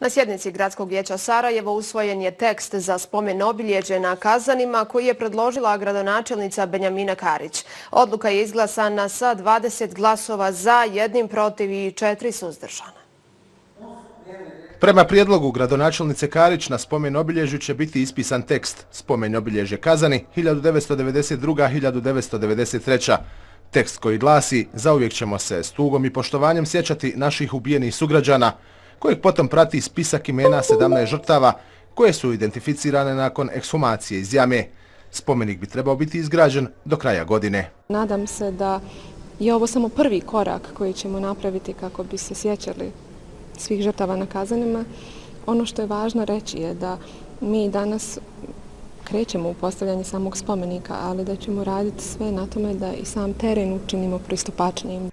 Na sjednici Gradskog vijeća Sarajevo usvojen je tekst za spomen obilježje na Kazanima koji je predložila gradonačelnica Benjamina Karić. Odluka je izglasana sa 20 glasova za, 1 protiv i 4 suzdržana. Prema prijedlogu gradonačelnice Karić na spomen obilježju će biti ispisan tekst Spomen obilježje Kazani 1992-1993. Tekst koji glasi: zauvijek ćemo se s tugom i poštovanjem sjećati naših ubijenih sugrađana, kojeg potom prati spisak imena 17 žrtava koje su identificirane nakon ekshumacije iz jame. Spomenik bi trebao biti izgrađen do kraja godine. Nadam se da je ovo samo prvi korak koji ćemo napraviti kako bi se sjećali svih žrtava na Kazanima. Ono što je važno reći je da mi danas krećemo u postavljanje samog spomenika, ali da ćemo raditi sve na tome da i sam teren učinimo pristupačnijim.